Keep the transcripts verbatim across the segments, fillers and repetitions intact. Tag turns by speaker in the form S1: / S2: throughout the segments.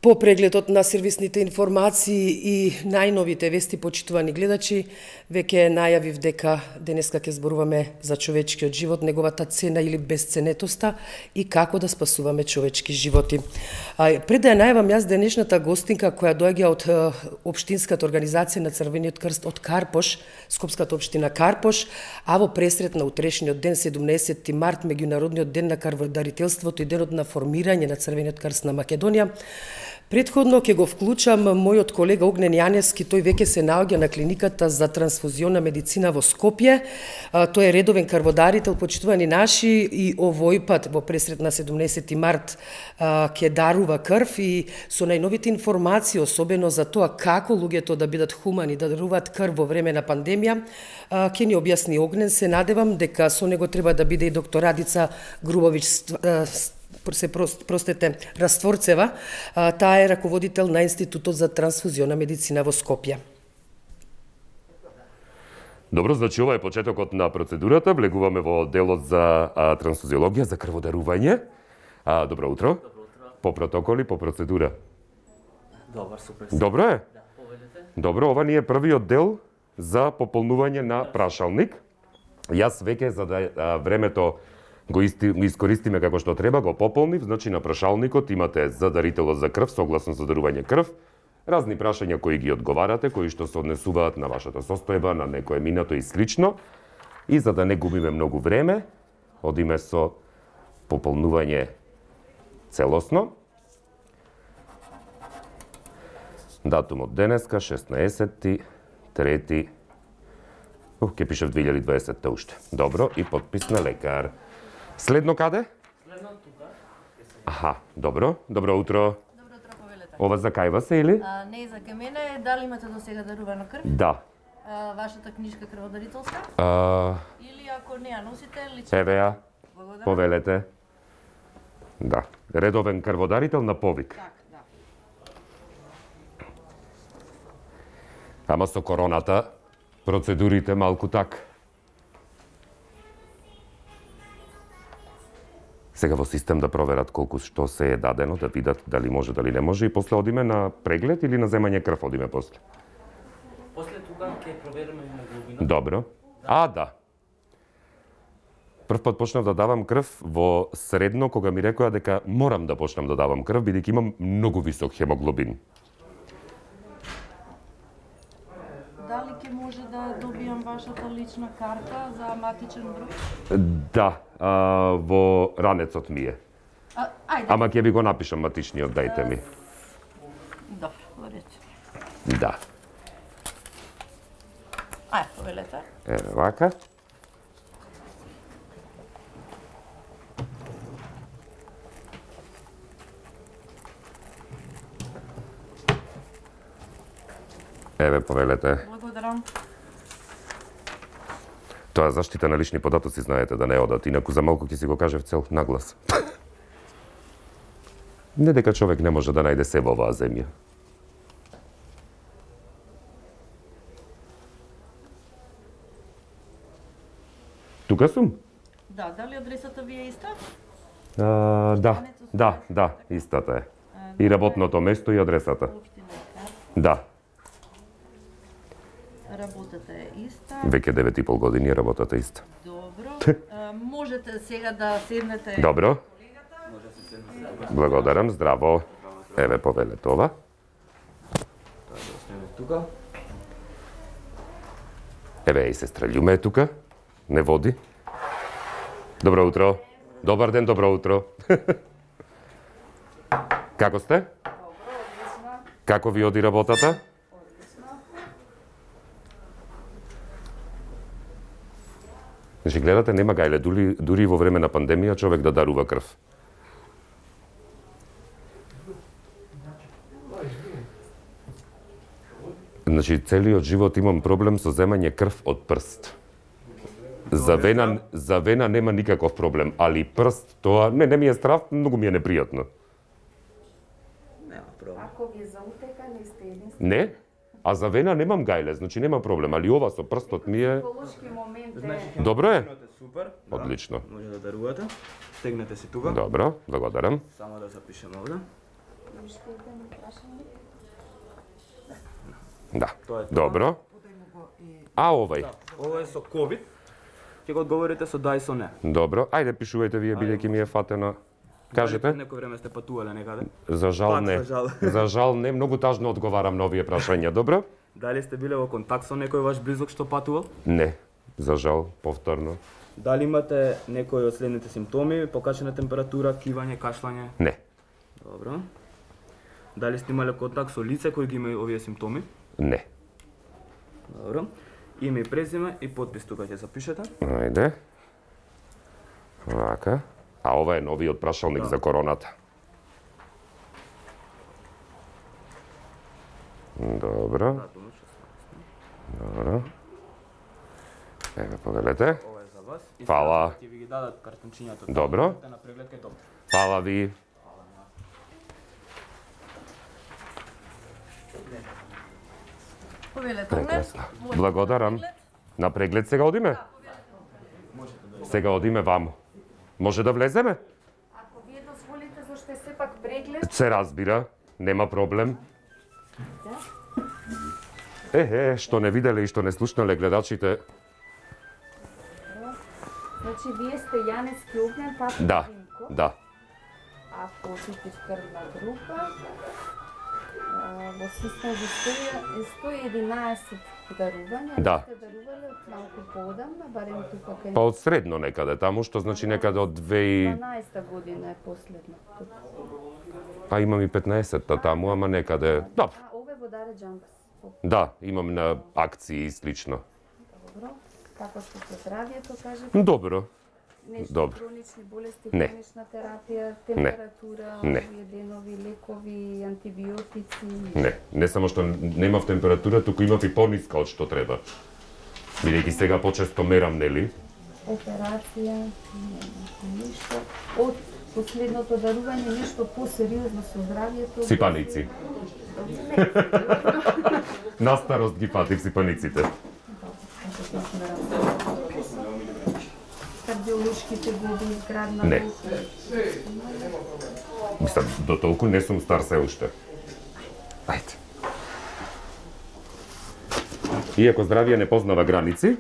S1: По прегледот на сервисните информации и најновите вести, почитувани гледачи, веќе најавив дека денеска ќе зборуваме за човечкиот живот, неговата цена или безценетоста и како да спасуваме човечки животи. А, пред да ја најавам јас денешната гостинка која доаѓа од Општинската организација на Црвениот крст од Карпош, Скопската општина Карпош, а во пресрет на утрешниот ден, седумнаесети март, меѓународниот ден на крводарителството и денот на формирање на Црвениот крст на Македонија, предходно ќе го вклучам мојот колега Огнен Јаневски, тој веќе се наоѓа на клиниката за трансфузионна медицина во Скопје. Тој е редовен крводарител, почитувани наши, и овој пат во пресрет на седумнаесети март ќе дарува крв и со најновите информации, особено за тоа како луѓето да бидат хумани, да даруваат крв во време на пандемија, ќе ни објасни Огнен. Се надевам дека со него треба да биде и доктор Радица Грубович се простете Растворцева, таа е раководител на Институтот за трансфузионна медицина во Скопје.
S2: Добро, значи ова е почетокот на процедурата. Влегуваме во делот за а, трансфузиологија, за крводарување. А, добро утро.
S3: Добро утро.
S2: По протоколи, по процедура.
S3: Добар, супер.
S2: Добро е?
S3: Да, поведете.
S2: Добро, ова ни е првиот дел за пополнување на прашалник. Јас веќе за да а, времето го искористиме како што треба, го пополнив, значи на прашалникот имате за дарителот за крв, согласно за дарување крв, разни прашања кои ги одговарате, кои што се однесуваат на вашата состојба, на некое минато и слично. И за да не губиме многу време, одиме со пополнување целосно. Датумот денеска, шеснаесети трети Ух, ке пише в две илјади и дваесетта уште. Добро, и подпис на лекар. Следно каде?
S3: Следно тука.
S2: Аха, добро. Добро утро.
S4: Добро утро, повелете.
S2: Ова за кај вас е или?
S4: А, не за ке мене, дали имате до сега дарувано крв?
S2: Да.
S4: А, вашата книжка крводарителска?
S2: А,
S4: Или ако не ја носите, лично?
S2: еве ја,
S4: Благодарам.
S2: повелете. Да. Редовен крводарител на повик.
S4: Так, да.
S2: Ама со короната, процедурите малку так. Сега во систем да проверат колку што се е дадено, да видат дали може, дали не може, и после одиме на преглед или на земање крв одиме после.
S3: После тука ќе провериме хемоглобинот.
S2: Добро. А, да. Прв пат почнав да давам крв во средно, кога ми рекоа дека морам да почнам да давам крв, бидејќи имам многу висок хемоглобин.
S4: Дали ќе може да добијам вашата лична карта за матичен број?
S2: Да, а, во ранецот ми е.
S4: А, ајде.
S2: Ама ќе ви го напишам матичниот, дајте ми.
S4: Добро, во ред.
S2: Да.
S4: Ајде, повелете.
S2: Еве вака. Еве, повелете.
S4: Благодарам.
S2: Тоа е заштита на лични податоци, знаете, да не одат. Инаку за малку ќе си го кажев цел наглас. Не дека човек не може да најде себе оваа земја. Тука сум?
S4: Да, дали адресата ви е иста?
S2: А, да, да, да, истата е. И работното место и адресата.
S4: Општина Карпош.
S2: Да,
S4: Работата е иста.
S2: веќе девет и пол години работата иста.
S4: Добро. А, можете сега да седнете.
S2: Добро,
S3: Може да се седне тука.
S2: благодарам, здраво. Еве повелете ова.
S3: Тоа да остане тука.
S2: Еве и сестра Љуме е тука. Не води. Добро утро. Добар ден, добро утро. Како сте?
S4: Добро, одлично.
S2: Како ви оди работата?
S4: Одлично.
S2: Значи, гледате, нема гајле, дури, дури во време на пандемија човек да дарува крв. Значи, целиот живот имам проблем со земање крв од прст. За вена, за вена нема никаков проблем, али прст, тоа, не, не ми е страв, многу ми е непријатно.
S3: Нема проблем.
S4: Ако ви е за утека, не сте единствени.
S2: Не? А за вена немам гајле, значи нема проблем, али ова со прстот ми е...
S4: Психолошки момент е.
S3: Значи,
S2: Добро е.
S3: хемоглобинот е супер. Да.
S2: Одлично.
S3: Може да дарувате. Стегнете се тука.
S2: Добро, благодарам.
S3: Само да запишеме овде.
S2: Да.
S5: Тоа е тоа.
S2: Добро. А овој?
S5: Ова е со ковид. Ќе го одговорите со да и со не.
S2: Добро. Ајде пишувајте вие бидејќи ми е фатено. Кажете?
S5: Дали некој време сте патувале некаде?
S2: За жал
S5: Пак,
S2: не.
S5: за жал.
S2: За жал не, многу тажно одговарам на овие прашања. Добро?
S5: Дали сте биле во контакт со некој ваш близок што патувал?
S2: Не. За жал, повторно.
S5: Дали имате некој од следните симптоми? Покачена температура, кивање, кашлање?
S2: Не.
S5: Добро. Дали сте имале контакт со лице кои ги има овие симптоми?
S2: Не.
S5: Добро. Име и презиме и подпис тука ќе запишете.
S2: Ајде. Вака. А ова е новиот прашалник
S5: Да.
S2: за короната. Добро.
S5: Датум шеснаесет.
S2: Добро. Еве, повелете.
S5: Ова е за вас. И
S2: Фала.
S5: сега ќе ви ги дадат картончињата.
S2: Добро.
S5: Идете на преглед кај доктор.
S2: Фала ви.
S4: Повелете,
S2: Прекрасно. Благодарам. На преглед сега одиме? Сега одиме ваму. Може да влеземе?
S4: Ако вие дозволите, зашто е сепак преглед,
S2: Се разбира, нема проблем. Е, е, што не виделе и што не слушнале гледачите.
S6: Значи, вие сте Јанески Огњен, пат
S2: Да, да.
S6: Ако отидеш крвна група, а, во систем за сто и единаесет дарувања,
S2: Да.
S6: сте дарувале од малку поодамна, барем тука кај
S2: Па од средно некаде таму, што значи некаде од две и...
S6: дванаесета година е последно.
S2: Па имам и петнаесетта таму, ама некаде... Добро.
S6: А, ове во Даре Джампс.
S2: Да, имам на акции и слично.
S6: Добро. Како што се здравието, кажете?
S2: Добро.
S6: Нешто
S2: Добро.
S6: хронични болести,
S2: Не.
S6: хронична терапија, температура,
S2: Не.
S6: овие денови, лекови, антибиотици.
S2: Не, не само што немав температура, туку имав и пониска од што треба. Бидејќи сега почесто мерам, нели?
S6: Операција, нема ништо. Од последното дарување нешто посериозно со здравието.
S2: Сипаници. На старост ги патив сипаниците.
S6: Кардиолошките глоби изградна.
S2: Не. Мислам, до толку не сум стар се уште. Ајде. Иако здравие не познава граници,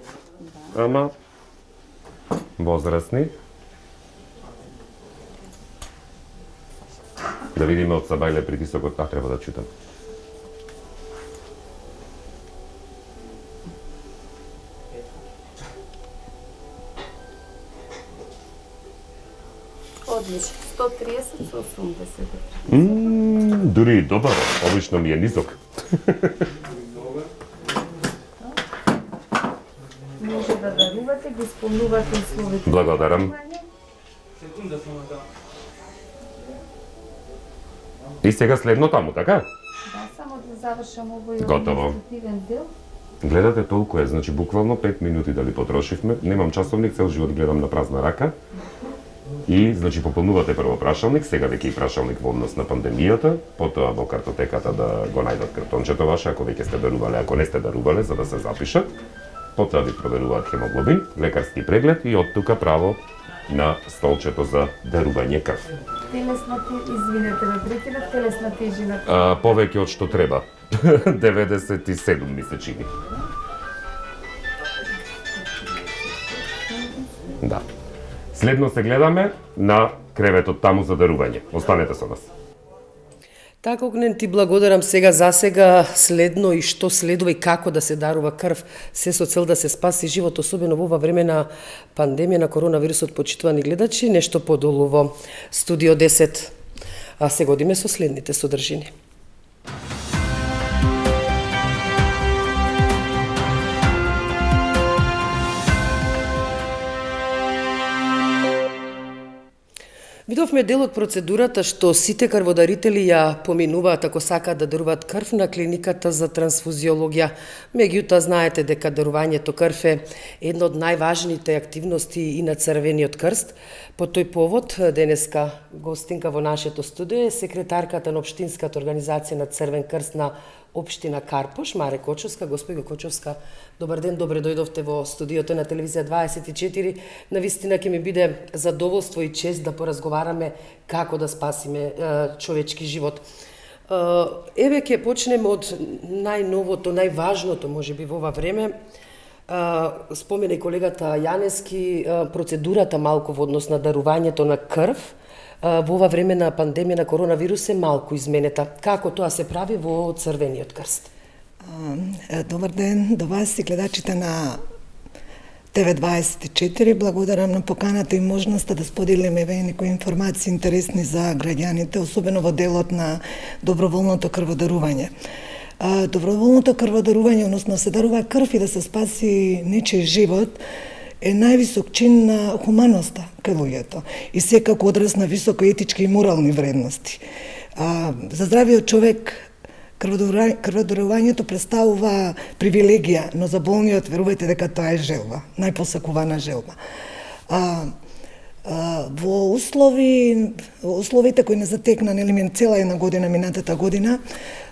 S2: ама возрастни. Да видиме од Сабајле притисокот, а треба да читам.
S6: Одлично. сто триесет со осумдесет.
S2: Ммм, дури и добар, обично ми е низок.
S6: Може да дарувате, ги исполнувате условите.
S2: Благодарам.
S5: Секунда само да.
S2: И сега следно таму, така?
S6: Да, само да завршам овој
S2: Готово.
S6: административен дел.
S2: Гледате толку е, значи буквално пет минути дали потрошивме. Немам часовник, цел живот гледам на празна рака. И, значи, пополнувате прво прашалник, сега веќе и прашалник во однос на пандемијата, потоа во картотеката да го најдат картончето ваше, ако веќе сте дарувале, ако не сте дарувале, за да се запишат. Потоа ви проверуваат хемоглобин, лекарски преглед и од тука право на столчето за дарување крв.
S6: Телесна те... извинете ме прекинав, телесна тежина.
S2: А, повеќе од што треба. деветдесет и седум ми се чини. Да. Следно се гледаме на креветот таму за дарување. Останете со нас.
S1: Така, Огнен, ти благодарам сега за сега, следно и што следува и како да се дарува крв, се со цел да се спаси живот, особено во ова време на пандемија на коронавирусот, почитувани гледачи, нешто подолу во Студио десет. А се годиме со следните содржини. Видовме дел од процедурата што сите крводарители ја поминуваат ако сакаат да даруваат крв на клиниката за трансфузиологија. Меѓутоа знаете дека дарувањето крв е една од најважните активности и на Црвениот крст. По тој повод денеска гостинка во нашето студио е секретарката на општинската организација на Црвен крст на општина Карпош, Маре Кочовска. Господи Кочовска, добар ден, добре дојдовте во студиото на телевизија дваесет и четири. Навистина ќе ми биде задоволство и чест да поразговараме како да спасиме е, човечки живот. Еве ќе почнем од најновото, најважното можеби во ова време. Спомена и колегата Јаневски процедурата малку во однос на дарувањето на крв во ова време на пандемија на коронавирус е малку изменета. Како тоа се прави во Црвениот крст?
S7: Добар ден до вас и гледачите на Т В дваесет и четири. Благодарам на поканата и можноста да споделиме некои информации интересни за граѓаните, особено во делот на доброволното крводарување. Доброволното крводарување, односно се дарува крв и да се спаси нечиј живот, е највисок чин на хуманоста кај луѓето и секако одраз на високо етички и морални вредности. За здравиот човек крводарувањето представува привилегија, но за болниот верувајте дека тоа е желба, најпосакувана желба. А, а, во услови, во условите кои не затекна нели цела една година минатата година,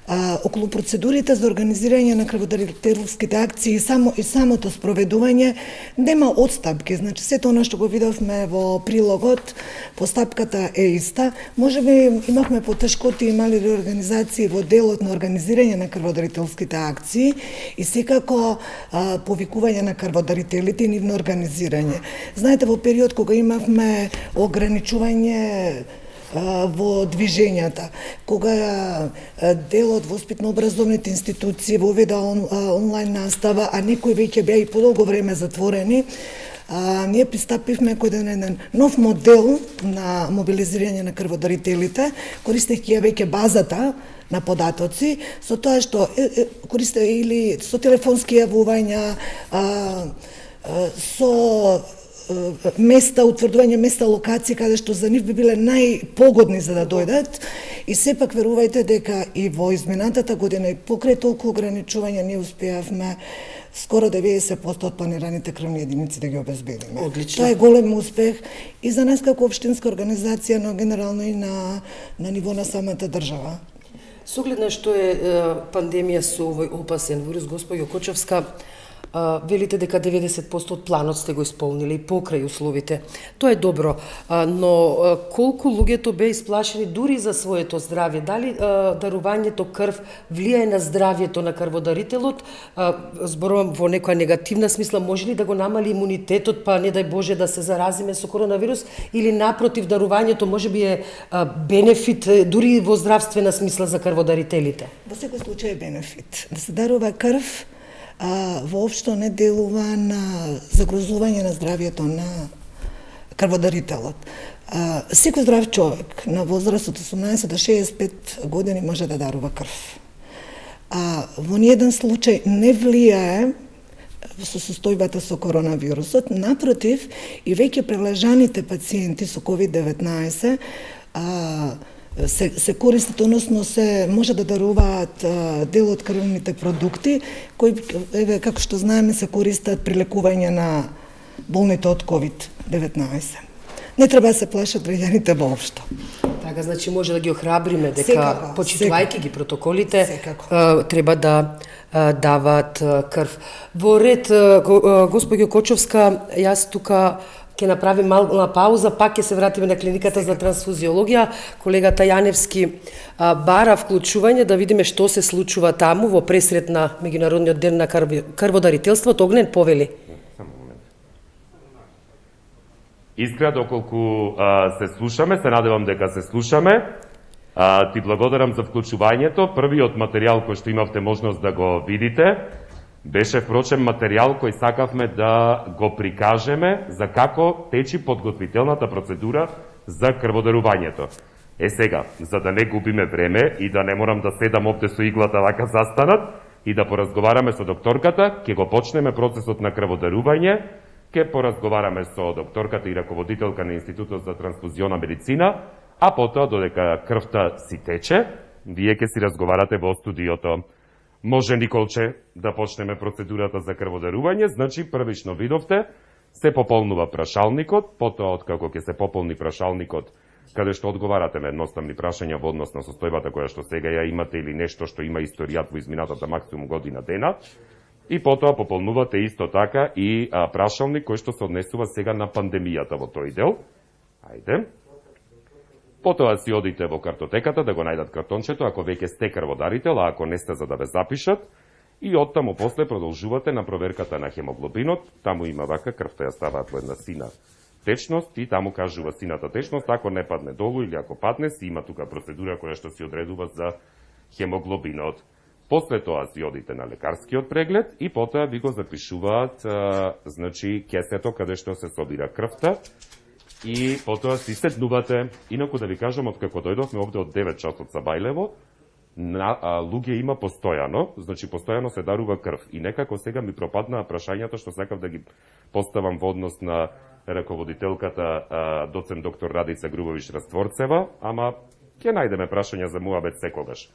S7: а, околу процедурите за организирање на крводарителските акции и само и самото спроведување нема отстапки. Значи сето она што го видовме во прилогот, постапката е иста. Можеби имавме потешкоти и мали реорганизации во делот на организирање на крводарителските акции и секако а, повикување на крводарителите и нивно организирање. Знаете, во период кога имавме ограничување во движењата, кога делот воспитно-образовните институции воведа он, онлайн настава, а некои веќе беа и подолго време затворени, а, ние пристапивме кој еден нов модел на мобилизирање на крводарителите, користејќи ја веќе базата на податоци, со тоа што користе или со телефонски јавувања, а, а, со места, утврдување места, локации каде што за нив би биле најпогодни за да дојдат, и сепак верувајте дека и во изминатата година и покрај толку ограничувања ние успеавме скоро деветдесет проценти од планираните крвни единици да ги обезбедиме.
S1: Одлично.
S7: Тоа е голем успех и за нас како општинска организација, но генерално и на, на ниво на самата држава.
S1: С оглед на што е, е пандемија со овој опасен вирус, госпоѓо Кочовска, Uh, велите дека деветдесет проценти од планот сте го исполнили и покрај условите. Тоа е добро, uh, но uh, колку луѓето беа исплашени дури за своето здравје? Дали uh, дарувањето крв влијае на здравјето на крводарителот? Uh, зборувам во некоја негативна смисла, може ли да го намали имунитетот, па не дај Боже да се заразиме со коронавирус, или напротив, дарувањето можеби е uh, бенефит дури во здравствена смисла за крводарителите?
S7: Во секој случај е бенефит. Да се дарува крв а, воопшто не делува на загрозување на здравјето на крводарителот. А, секој здрав човек на возраст од осумнаесет до шеесет и пет години може да дарува крв. А во ниеден случај не влијае со состојбата со коронавирусот, напротив, и веќе прележаните пациенти со ковид деветнаесет а, се, се користат, односно се може да даруваат а, дел од крвните продукти, кои, еве, како што знаеме, се користат при лекување на болните од ковид деветнаесет. Не треба да се плашат граѓаните воопшто.
S1: Така, значи може да ги охрабриме дека, почитувајќи ги протоколите, секако. Треба да даваат крв. Во ред, госпоѓо Кочовска, јас тука ќе направим мала пауза, пак ќе се вратиме на клиниката за трансфузиологија. Колегата Јаневски бара вклучување да видиме што се случува таму во пресрет на меѓународниот ден на крводарителството. Огнен, повели.
S2: Искра, доколку а, се слушаме, се надевам дека се слушаме. А, ти благодарам за вклучувањето. Првиот материјал кој што имавте можност да го видите беше впрочем материјал кој сакавме да го прикажеме за како течи подготвителната процедура за крводарувањето. Е сега, за да не губиме време и да не морам да седам овде со иглата вака застанат и да поразговараме со докторката, ќе го почнеме процесот на крводарување. Ке поразговараме со докторката и раководителка на Институтот за трансфузиона медицина, а потоа, додека крвта си тече, вие ке си разговарате во студиото. Може, Николче, да почнеме процедурата за крводарување, значи првично видовте, се пополнува прашалникот, потоа откако ке се пополни прашалникот, каде што одговарате на едноставни прашања во однос на состојбата која што сега ја имате или нешто што има историјат во изминатата максимум година дена, и потоа пополнувате исто така и а, прашалник кој што се однесува сега на пандемијата во тој дел. Ајде. Потоа си одите во картотеката да го најдат картончето, ако веќе сте крводарител, а ако не сте за да ве запишат, и оттаму после продолжувате на проверката на хемоглобинот, таму има вака, крвта ја ставаат во една сина течност и таму кажува сината течност, ако не падне долу или ако падне, си има тука процедура која што си одредува за хемоглобинот. После тоа си одите на лекарскиот преглед и потоа ви го запишуваат а, значи кесето каде што се собира крвта и потоа си седнувате. Инаку да ви кажам, откако дојдовме овде од девет часот са Бајлево, на, а, луѓе има постојано, значи постојано се дарува крв. И некако сега ми пропаднаа прашањата што сакав да ги поставам во однос на раководителката а, доцент доктор Радица Грубович Растворцева, ама ќе најдеме прашања за муабет секогаш.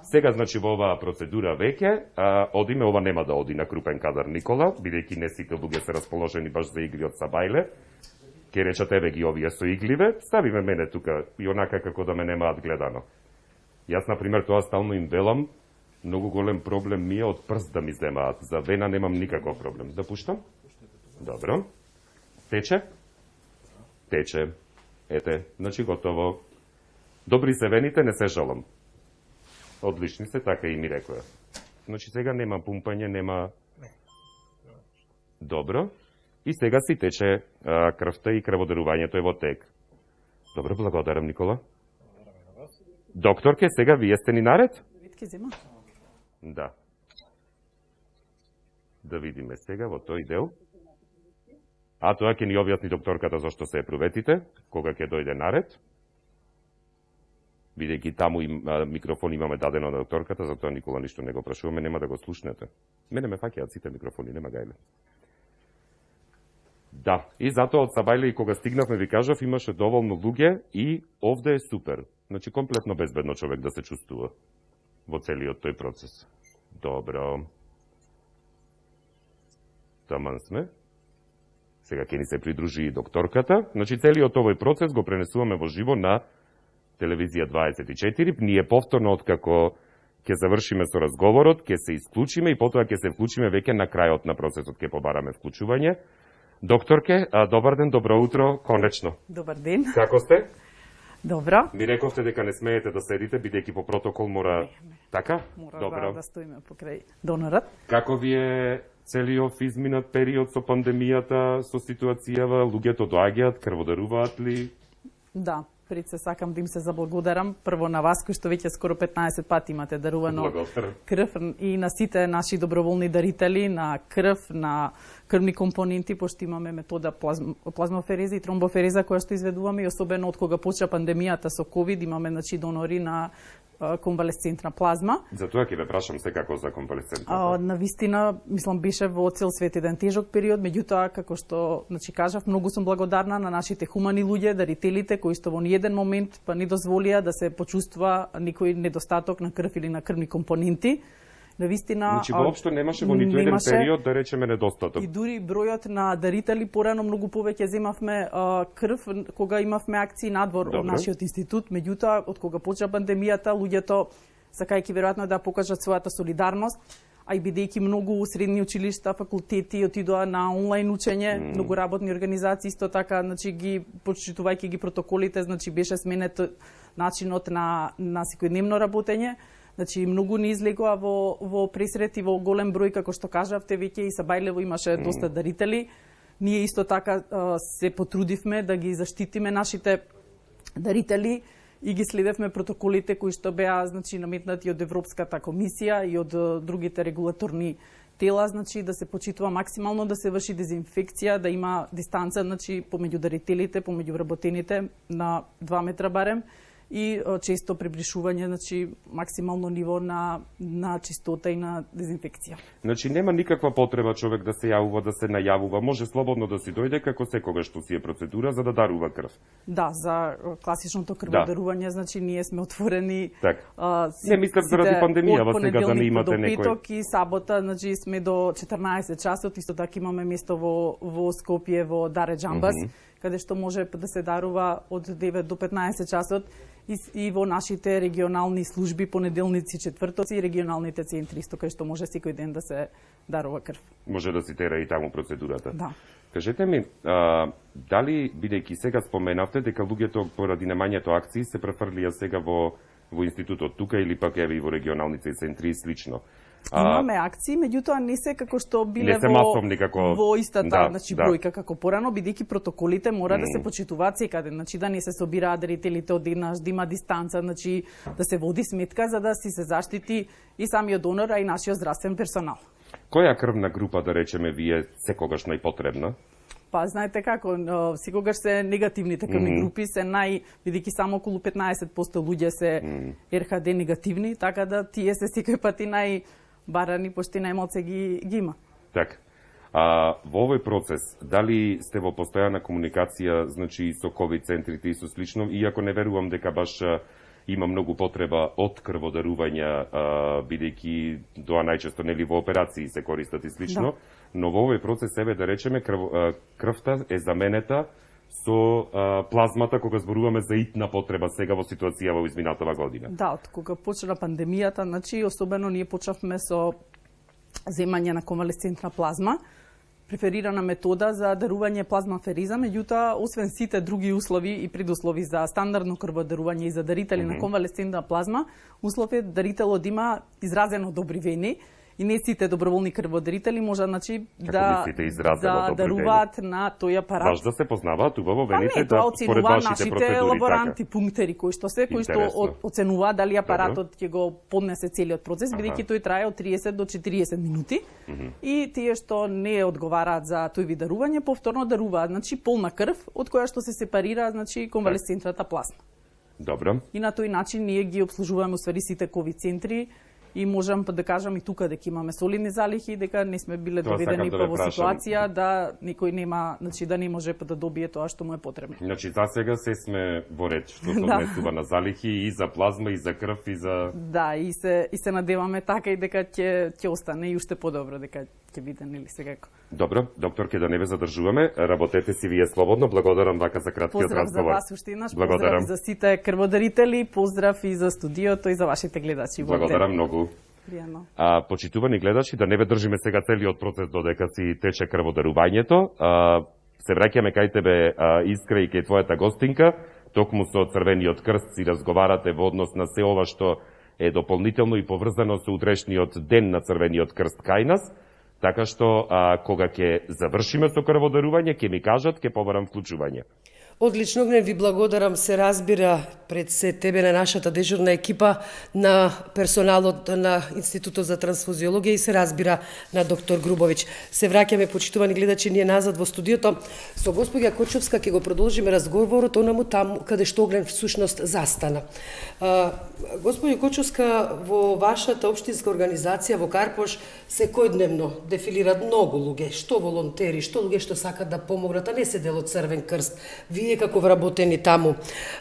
S2: Сега, значи, во оваа процедура веќе, а, одиме, ова нема да оди на крупен кадар Никола, бидејќи не сите луѓе се расположени баш за игри од Сабајле. Ке реча тебе ги овие со игливе, ставиме мене тука и онака како да ме немаат гледано. Јас, например, тоа стално им велам, многу голем проблем ми е од прст да ми земаат. За вена немам никаков проблем. Да пуштам? Добро. Тече? Тече. Ете, значи готово. Добри се вените, не се жалам. Одлични се, така и ми рекоја. Значи сега нема пумпање, нема... Добро. И сега си тече а, крвта и крводарувањето е во тек. Добро, благодарам, Никола. Докторке, сега вие сте ни наред?
S8: Витки зема.
S2: Да. Да видиме сега во тој дел. А тоа ќе ни објасни докторката зашто се проветите, кога ќе дојде наред. Бидејќи таму им, а, микрофон имаме дадено на докторката, затоа Никола ништо не го прашуваме, нема да го слушнете. Мене ме фаќаат сите микрофони, нема гајле. Да, и затоа од Сабајле и кога стигнавме, ви кажав, имаше доволно луѓе и овде е супер. Значи, комплетно безбедно човек да се чувствува во целиот тој процес. Добро. Таман сме. Сега ќе ни се придружи и докторката. Значи, целиот овој процес го пренесуваме во живо на телевизија дваесет и четири. Ние повторно, откако ќе завршиме со разговорот, ќе се исклучиме и потоа ќе се вклучиме веќе на крајот на процесот, ќе побараме вклучување. Докторке, а, добар ден, добро утро, конечно.
S8: Добар ден.
S2: Како сте?
S8: Добро.
S2: Ми рековте дека не смеете да седите, бидејќи по протокол мора... Така?
S8: Мора
S2: Добро.
S8: да стоиме покрај донорот.
S2: Како ви е целиот изминат период со пандемијата, со ситуацијава, луѓето доаѓаат, крводаруваат ли?
S8: Да, пред се сакам да им се заблагодарам прво на вас кои што веќе скоро петнаесет пати имате дарувано
S2: Благодарам.
S8: крв и на сите наши доброволни дарители на крв, на крвни компоненти, пошто имаме метода плазм, плазмофереза и тромбофереза која што изведуваме и особено од кога почна пандемијата со ковид имаме значи донори на конвалесцентна плазма.
S2: Затоа ќе ве прашам секако за конвалесцентна.
S8: А, на вистина, мислам, беше во цел свет еден тежок период, меѓутоа, како што значи, кажав, многу сум благодарна на нашите хумани луѓе, дарителите, кои што во ниеден момент па не дозволија да се почувствува никој недостаток на крв или на крвни компоненти. На вистина,
S2: Значи, воопшто немаше во ниту еден период, да речеме, недостаток.
S8: И дури бројот на дарители порано многу повеќе земавме а, крв кога имавме акции надвор
S2: Добре.
S8: од нашиот институт, меѓутоа од кога почна пандемијата луѓето сакајќи веројатно да покажат својата солидарност, а и бидејќи многу средни училишта, факултети отидоа на онлайн учење, mm. многу работни организации исто така, значи ги почитувајќи ги протоколите, значи беше сменет начинот на на секојдневно работење. Значи, многу не излегоа во, во пресрет и во голем број, како што кажавте, веќе и Сабајлево имаше mm. доста дарители. Ние исто така се потрудивме да ги заштитиме нашите дарители и ги следевме протоколите кои што беа значи, наметнати од Европската комисија и од другите регулаторни тела, значи да се почитува максимално да се врши дезинфекција, да има дистанца значи, помеѓу дарителите, помеѓу вработените на два метра барем, и често приближување, значи максимално ниво на на чистота и на дезинфекција.
S2: Значи нема никаква потреба човек да се јавува, да се најавува, може слободно да си дојде како секогаш што си е процедура за да дарува крв.
S8: Да, за класичното крводарување, да. Значи ние сме отворени.
S2: Так.
S8: А,
S2: не мислам заради пандемијава сега да не имате некој.
S8: Од петок и сабота, значи сме до четрнаесет часот, исто така имаме место во во Скопје во Даре Џамбас, mm -hmm. каде што може да се дарува од девет до петнаесет часот. и, и во нашите регионални служби понеделници, четвртоци и регионалните центри, исто кај што може секој ден да се дарува крв.
S2: Може да си тера и таму процедурата.
S8: Да.
S2: Кажете ми, а, дали, бидејќи сега споменавте дека луѓето поради немањето акции се префрлија сега во во институтот тука или пак еве и во регионалните центри и слично. А,
S8: Имаме акции, меѓутоа не се како што биле
S2: не се
S8: во,
S2: масовни како...
S8: во истата
S2: да,
S8: значи,
S2: да.
S8: бројка како порано, бидејќи протоколите мора
S2: Mm.
S8: да се почитуваат секаде, значи да не се собираат дарителите одеднаш, да има дистанца, значи да се води сметка за да си се заштити и самиот донор, а и нашиот здравствен персонал.
S2: Која крвна група, да речеме, ви е секогаш најпотребна?
S8: Па знаете како, но, секогаш се негативните крвни
S2: Mm.
S8: групи се нај, бидејќи само околу петнаесет проценти луѓе се
S2: Mm.
S8: ер ха де негативни, така да тие се секој пати нај барани, пошто најмалце ги, ги има.
S2: Така. А, во овој процес, дали сте во постојана комуникација, значи и со ковид центрите и со слично, иако не верувам дека баш а, има многу потреба од крводарување, а, бидејќи тоа најчесто нели во операции се користат и слично,
S8: Да.
S2: но во овој процес еве да речеме крв, а, крвта е заменета со а, плазмата кога зборуваме за итна потреба сега во ситуација во изминатава година.
S8: Да, од кога почна пандемијата, значи особено ние почнавме со земање на конвалесцентна плазма, преферирана метода за дарување плазмафериза, меѓутоа освен сите други услови и предуслови за стандардно крводарување и за дарители mm -hmm. на конвалесцентна плазма, услов е дарителот да има изразено добри вени и не сите доброволни крводарители може значи да да даруваат на тој апарат.
S2: Баш да се познаваат убаво вените
S8: па не,
S2: да
S8: според
S2: вашите
S8: нашите
S2: процедури,
S8: лаборанти,
S2: така.
S8: пунктери кои што се кои што
S2: Интересно.
S8: оценуваат дали апаратот ќе го поднесе целиот процес, бидејќи тој трае од триесет до четириесет минути.
S2: Mm -hmm.
S8: И тие што не одговараат за тој вид дарување, повторно даруваат, значи полна крв од која што се сепарира, значи конвалесцентната плазма.
S2: Добро.
S8: И на тој начин ние ги обслужуваме усвари сите ковид центри и можам да кажам и тука дека имаме солидни залихи, дека не сме биле
S2: Тоа
S8: доведени
S2: да
S8: па
S2: ве
S8: во
S2: прашам.
S8: ситуација да никој нема, значи да не може да добие тоа што му е потребно.
S2: Значи за сега се сме во ред што се
S8: Да.
S2: однесува на залихи и за плазма и за крв и за
S8: Да, и се и се надеваме така и дека ќе ќе остане и уште подобро дека ќе биде нели секако.
S2: Добро, докторке, да не ве задржуваме, работете си вие слободно. Благодарам вака за краткиот
S8: Поздрав
S2: разговор.
S8: за вас уште еднаш,
S2: Благодарам.
S8: поздрав за сите крводарители, поздрав и за студиото и за вашите гледачи.
S2: Благодарам многу.
S8: Пријатно.
S2: А, почитувани гледачи, да не ве држиме сега целиот процес додека си тече крводарувањето. А, се враќаме кај тебе, а, Искра, и кај твојата гостинка. Токму со Црвениот крст си разговарате во однос на се ова што е дополнително и поврзано со утрешниот ден на Црвениот крст кај нас. Така што, а, кога ќе завршиме со крводарување, ќе ми кажат, ќе побарам вклучување.
S1: Одлично, Огнен, ви благодарам, се разбира пред се тебе на нашата дежурна екипа, на персоналот на Институтот за трансфузиологија и се разбира на доктор Грубовиќ. Се враќаме, почитувани гледачи, ние назад во студиото. Со госпоѓа Кочовска ќе го продолжиме разговорот онаму таму каде што Огнен всушност застана. А, госпоѓа Кочовска, во вашата општинска организација во Карпош секојдневно дефилираат многу луѓе, што волонтери, што луѓе што сакат да помогнат, а не се дел од Црвен крст. Вие како вработени таму,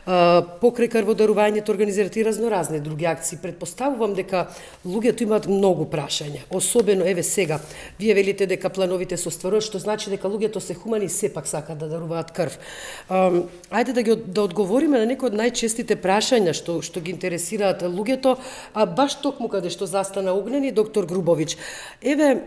S1: а, покрај крводарувањето организирате и разноразни други акции. Предпоставувам дека луѓето имаат многу прашања. Особено еве сега, вие велите дека плановите се остваруваат, што значи дека луѓето се хумани и сепак сакаат да даруваат крв. А, ајде да ги да одговориме на некои од најчестите прашања што што ги интересираат луѓето, а баш токму каде што застана Огнен и доктор Грубовиќ. Еве,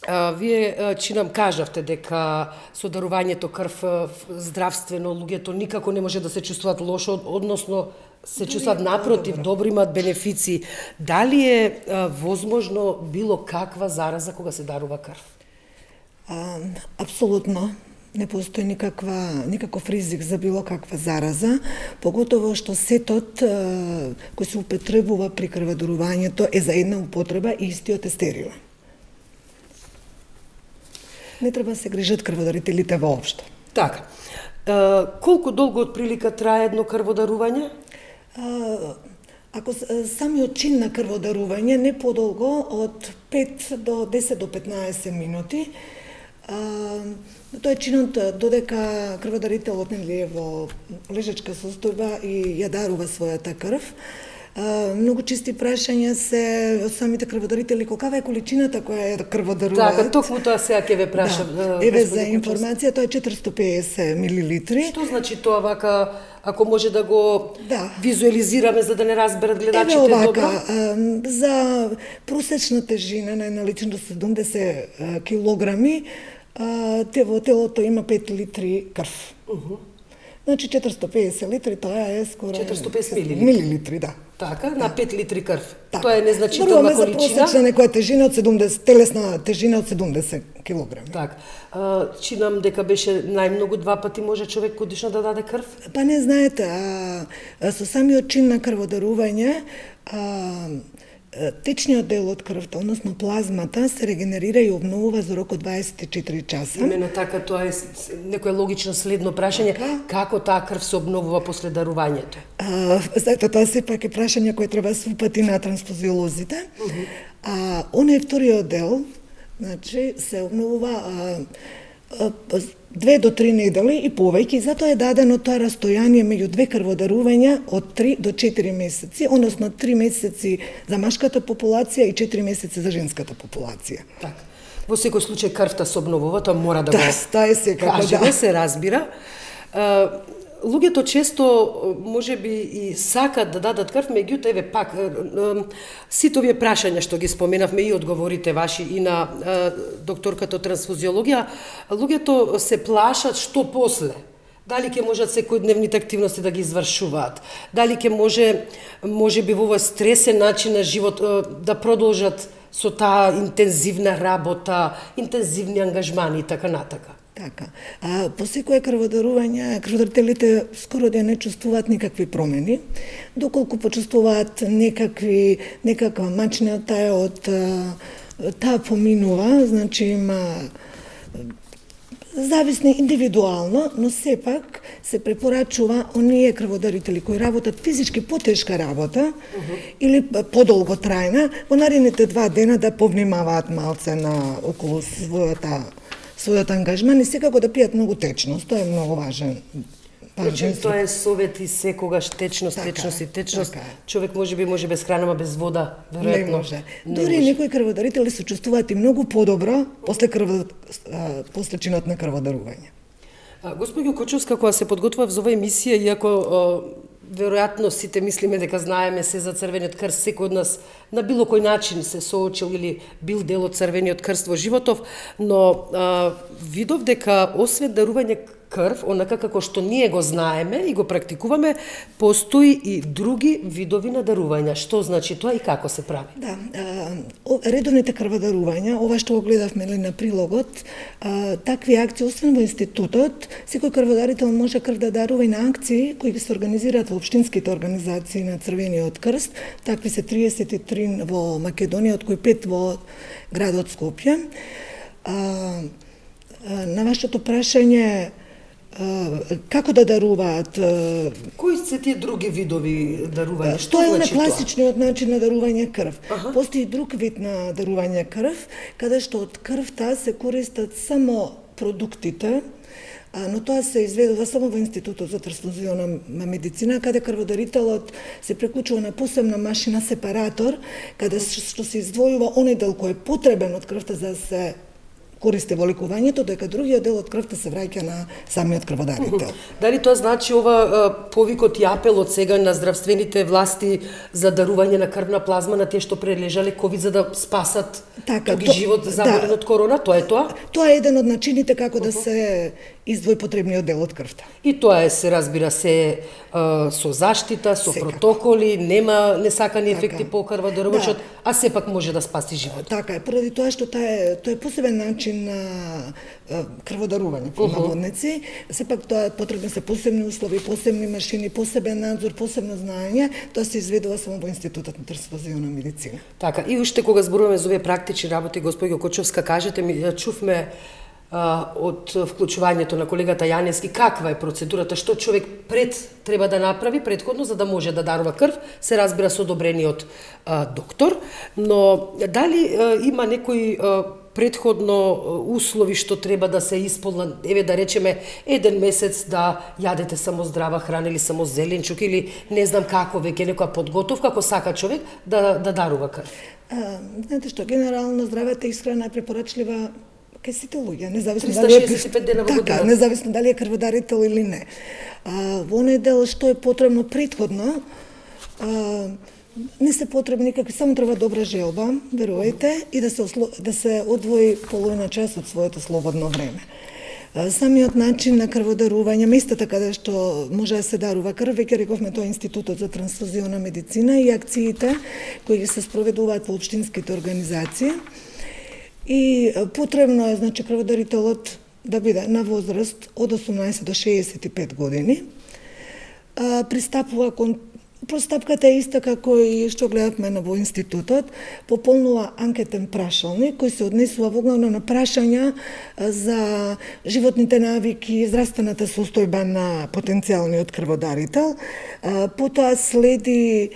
S1: А, вие а, чи нам кажавте дека со дарувањето крв а, здравствено луѓето никако не може да се чувствуваат лошо, односно се чувствуваат напротив, добро, имаат бенефиции. Дали е а, возможно било каква зараза кога се дарува крв?
S7: А, апсолутно. Не постои никаква, никаков ризик за било каква зараза, поготово што сетот а, кој се употребува при крводарувањето е за една употреба и истиот е стерилен. Не треба да се грижат крводарителите воопшто.
S1: Така. А, колку долго од прилика трае едно крводарување?
S7: А, ако самиот чин на крводарување не подолго од пет до десет до петнаесет минути, а, тоа е чинот додека крводарителот нели е во лежачка состојба и ја дарува својата крв. Uh, многу чести прашања се од самите крводарители колкава е количината која ја крводаруваат.
S1: Така, токму тоа сега ќе ве прашам.
S7: Да. Еве за информација, тоа е четиристо и педесет милилитри.
S1: Што значи тоа вака ако може да го
S7: Да.
S1: визуализираме за да не разберат гледачите
S7: Еве овака,
S1: добро.
S7: а, за просечна тежина на една личност седумдесет а, килограми, а, те во телото има пет литри крв.
S1: Уху.
S7: Значи четиристотини и педесет литри, тоа е скоро
S1: четиристотини и педесет милилитри.
S7: милилитри, да.
S1: Така, на пет литри крв.
S7: Така.
S1: Тоа е незначителна
S7: Зборуваме за
S1: количина.
S7: просечна некоја тежина од седумдесет, телесна тежина од седумдесет килограми.
S1: Так. А, чинам дека беше најмногу два пати може човек годишно да даде крв.
S7: Па не знаете, а, а, со самиот чин на крводарување, а, течниот дел од крвта, односно плазмата, се регенерира и обновува за рок од дваесет и четири часа.
S1: Имено така, тоа е с- некое логично следно прашање, како таа крв се обновува после дарувањето?
S7: А, Зато тоа сепак е прашање кој треба да се упати на трансфузиолозите. А оној вториот дел, значи, се обновува а, а, две до три недели и повеќе, и затоа е дадено тоа растојание меѓу две крводарувања од три до четири месеци, односно три месеци за машката популација и четири месеци за женската популација.
S1: Така. Во секој случај крвта се обновува, тоа мора да
S7: Да,
S1: го
S7: тоа е секако,
S1: кажеме,
S7: да.
S1: се разбира. А, луѓето често може би и сакат да дадат крв, меѓутоа еве пак е, е, сите овие прашања што ги споменавме и одговорите ваши и на е, докторката од трансфузиологија, луѓето се плашат што после. Дали ќе можат секојдневните активности да ги извршуваат? Дали ќе може може би во овој стресен начин на живот е, да продолжат со таа интензивна работа, интензивни ангажмани и така натака?
S7: Така. А по секое крводарување, крводарителите скоро да не чувствуваат никакви промени, доколку почувствуваат некакви некаква мачната од а, таа поминува, значи има зависни индивидуално, но сепак се препорачува оние крводарители кои работат физички потешка работа uh -huh. или подолго трајна, во наредните два дена да повнимаваат малце на околу својата својот ангажман и секако да пијат многу течност, тоа е многу важен.
S1: Значи, тоа е совет и секогаш течност,
S7: Така
S1: течност
S7: е,
S1: и течност.
S7: така е.
S1: Човек може би може без храна, ма без вода,
S7: Не
S1: веројатно.
S7: може.
S1: Не
S7: Дури
S1: може.
S7: некои крводарители се чувствуваат и многу подобро после крв после чинот на крводарување.
S1: А, Госпоѓо Кочовска, кога се подготвував за оваа емисија, иако а, веројатно сите мислиме дека знаеме се за црвениот крст, секој од нас на било кој начин се соочил или бил дел од црвениот крст во животов, но а, видов дека освен дарување крв, онака како што ние го знаеме и го практикуваме, постои и други видови на дарувања. Што значи тоа и како се прави?
S7: Да, а, о- редовните крводарувања, ова што го гледавме ли на прилогот, а, такви акции, освен во институтот, секој крводарител може крв да дарува и на акции кои се организираат во општинските организации на Црвениот крст. Такви се триесет и три во Македонија, од кои пет во градот Скопје. А, а, на вашето прашање, а, како да даруваат, а,
S1: Кои се тие други видови дарување? Што
S7: Тоа е на
S1: значи тоа?
S7: класичниот начин на дарување крв.
S1: Аха.
S7: Постои друг вид на дарување крв, каде што од крвта се користат само продуктите, а, но тоа се изведува само во Институтот за трансфузиона медицина, каде крводарителот се преклучува на посебна машина сепаратор, каде што се издвојува оној дел кој е потребен од крвта за да се користи во лекувањето, дека другиот дел од крвта се враќа на самиот крводарител.
S1: Дали тоа значи ова а, повикот и апелот сега на здравствените власти за дарување на крвна плазма на тие што прележале ковид за да спасат
S7: Така,
S1: други
S7: то-
S1: живот заболен
S7: да.
S1: од корона? Тоа е тоа?
S7: Тоа е еден од начините како да се издвои потребниот дел од крвта.
S1: И тоа е, се разбира се, а, со заштита, со
S7: Секако.
S1: протоколи, нема несакани
S7: Така.
S1: ефекти по крводарувачот,
S7: Да.
S1: а сепак може да спаси живот.
S7: Така е, поради тоа што тоа е, тоа е посебен начин на а, крводарување по наводници. Сепак тоа потребни се посебни услови, посебни машини, посебен надзор, посебно знаење. Тоа се изведува само во Институтот на трансфузиона медицина.
S1: Така, и уште кога зборуваме за овие практични работи, господјо Кочовска, кажете ми, ја чувме а, од вклучувањето на колегата Јанески, каква е процедурата, што човек пред треба да направи предходно за да може да дарува крв, се разбира со одобрениот а, доктор, но дали а, има некои а, предходно а, услови што треба да се исполнат, еве да речеме еден месец да јадете само здрава храна или само зеленчук или не знам како веќе некоја подготовка ако сака човек да да дарува крв.
S7: А, знаете што, генерално здравата исхрана е препорачлива кај сите луѓе, независно
S1: триста
S7: дали е
S1: шеесет и пет дена во
S7: така,
S1: годината.
S7: независно дали е крводарител или не. А, во оној дел што е потребно претходно, а, не се потребни никакви, само треба добра желба, верувајте, и да се да се одвои половина час од своето слободно време. Самиот начин на крводарување, местата каде што може да се дарува крв, веќе рековме, тоа е Институтот за трансфузиона медицина и акциите кои се спроведуваат во општинските организации. И потребно е, значи, крводарителот да биде на возраст од осумнаесет до шеесет и пет години. Пристапува кон Постапката е иста како и што гледавме на во институтот, пополнува анкетен прашалник кој се однесува воглавно на прашања за животните навики, здравствената состојба на потенцијалниот крводарител. Потоа следи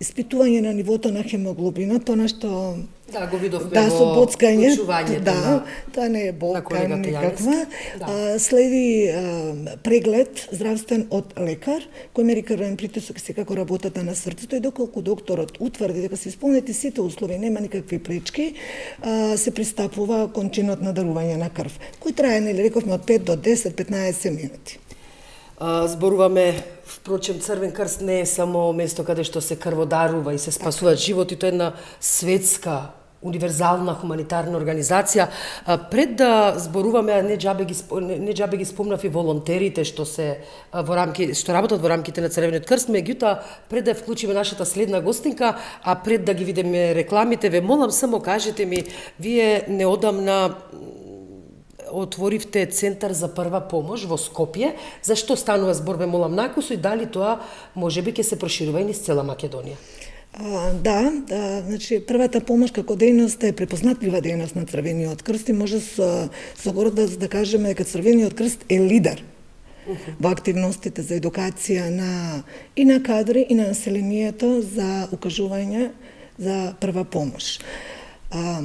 S7: испитување на нивото на хемоглобина, тоа што
S1: Да, го видовме
S7: да, со
S1: во
S7: боцкање,
S1: учувањето
S7: да,
S1: на,
S7: тоа не е болка никаква.
S1: Да.
S7: А, следи а, преглед здравствен од лекар, кој мери крвен притисок и секако работата на срцето, и доколку докторот утврди дека се исполнети сите услови, нема никакви пречки, а, се пристапува кон чинот на дарување на крв, кој трае, нели рековме, од пет до десет до петнаесет минути.
S1: А, зборуваме, впрочем, Црвен крст не е само место каде што се крводарува и се спасуваат животи, тоа е една светска, универзална хуманитарна организација. А, пред да зборуваме, а не џабе ги не, не џабе ги спомнав и волонтерите што се а, во рамки што работат во рамките на Црвениот крст, меѓутоа пред да вклучиме нашата следна гостинка, а пред да ги видиме рекламите, ве молам само кажете ми, вие неодамна отворивте центар за прва помош во Скопје. Зашто станува збор, ве молам накусо, и дали тоа можеби ќе се проширува и низ цела Македонија?
S7: А, да, да, значи првата помош како дејност е препознатлива дејност на Црвениот крст и може со, со гордост да кажеме дека Црвениот крст е лидер во активностите за едукација на и на кадри и на населението за укажување за прва помош. А,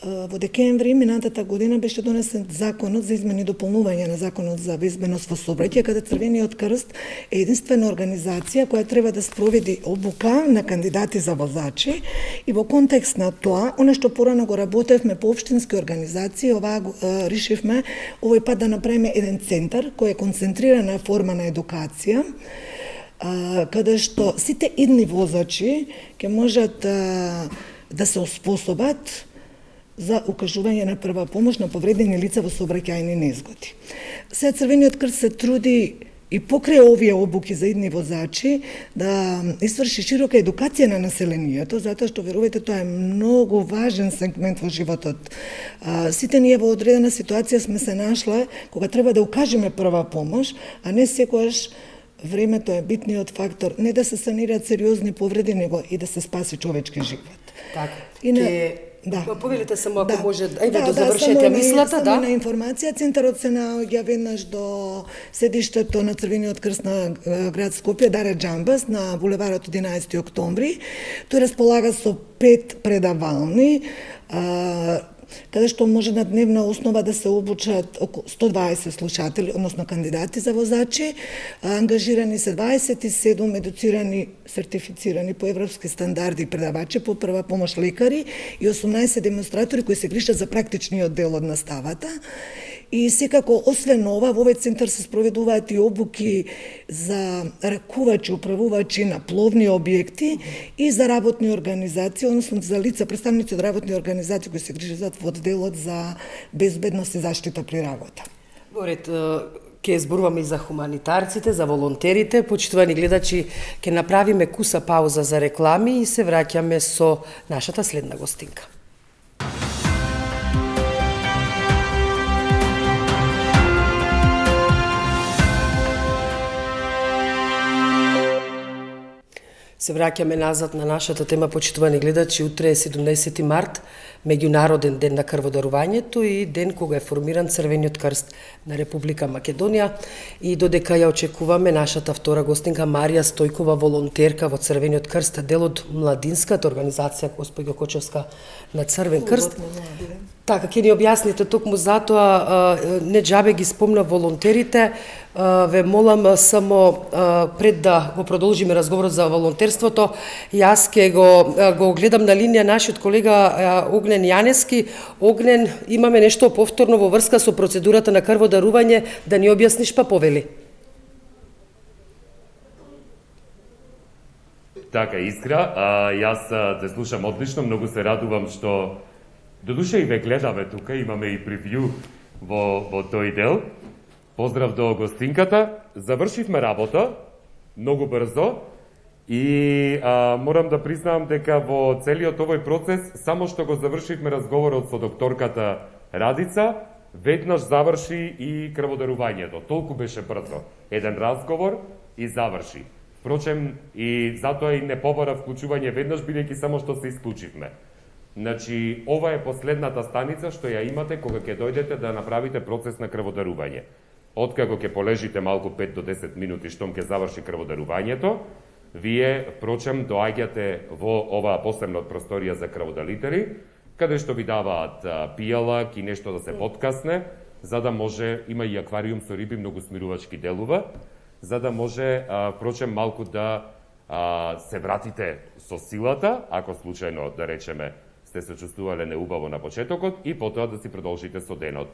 S7: во декември минатата година беше донесен законот за измени и дополнување на законот за безбедност во сообраќај, каде Црвениот крст е единствена организација која треба да спроведи обука на кандидати за возачи, и во контекст на тоа, оно што порано го работевме по општински организации, ова го решивме овој пат да направиме еден центар кој е концентрирана форма на едукација, каде што сите идни возачи ќе можат да да се оспособат за укажување на прва помош на повредени лица во сообраќајни незгоди. Сега Црвениот крст се труди и покрај овие обуки за идни возачи да изврши широка едукација на населението, затоа што, верувајте, тоа е многу важен сегмент во животот. А, сите ние во одредена ситуација сме се нашла кога треба да укажеме прва помош, а не секогаш времето е битниот фактор, не да се санираат сериозни повреди, него и да се спаси човечки живот.
S1: Така.
S7: И на...
S1: Ке...
S7: Да.
S1: Повелите само ако
S7: да.
S1: може, ајде
S7: да,
S1: да,
S7: да
S1: завршете мислата,
S7: само
S1: да.
S7: Само на информација, центарот се наоѓа веднаш до седиштето на Црвениот крст на град Скопје, Даре Џамбас, на булеварот единаесети октомври. Тој располага со пет предавални, а, каде што може на дневна основа да се обучат околу сто дваесет слушатели, односно кандидати за возачи. Ангажирани се дваесет и седум едуцирани, сертифицирани по европски стандарди предавачи по прва помош лекари и осумнаесет демонстратори кои се грижат за практичниот дел од наставата. И секако, освен ова, во овој центар се спроведуваат и обуки за ракувачи, управувачи на пловни објекти и за работни организации, односно за лица, представници од работни организации кои се грижат во делот за безбедност и заштита при работа.
S1: Горет, ќе зборуваме и за хуманитарците, за волонтерите. Почитувани гледачи, ќе направиме куса пауза за реклами и се враќаме со нашата следна гостинка. Се враќаме назад на нашата тема, почитувани гледачи. Утре е седумнаесети март, меѓународен ден на крводарувањето и ден кога е формиран Црвениот крст на Република Македонија. И додека ја очекуваме нашата втора гостинка Марија Стојкова, волонтерка во Црвениот крст, дел од младинската организација Госпоѓо Кочевска на Црвен крст. Така, ќе ни објасните токму затоа, не џабе ги спомна волонтерите, ве молам само пред да го продолжиме разговорот за волонтерството, јас ке го го гледам на линија нашиот колега Огнен Јанески. Огнен, имаме нешто повторно во врска со процедурата на крводарување, да ни објасниш па повели.
S2: Така, Искра, а, јас те слушам одлично, многу се радувам што додуше и ве гледаме тука, имаме и превју во, во тој дел. Поздрав до гостинката, завршивме работа многу брзо и а, морам да признам дека во целиот овој процес, само што го завршивме разговорот со докторката Радица, веднаш заврши и крводарувањето. Толку беше брзо. Еден разговор и заврши. Впрочем, и затоа и не побара вклучување веднаш, бидејќи само што се исклучивме. Значи, ова е последната станица што ја имате кога ќе дојдете да направите процес на крводарување. Откако ќе полежите малку пет до десет минути штом ќе заврши крводарувањето, вие, впрочем, доаѓате во оваа посебна просторија за крводарители, каде што ви даваат пијалак и нешто да се подкасне, за да може, има и аквариум со риби, многу смирувачки делува, за да може, впрочем, малку да а, се вратите со силата, ако случајно, да речеме, сте се чувствувале неубаво на почетокот, и потоа да си продолжите со денот.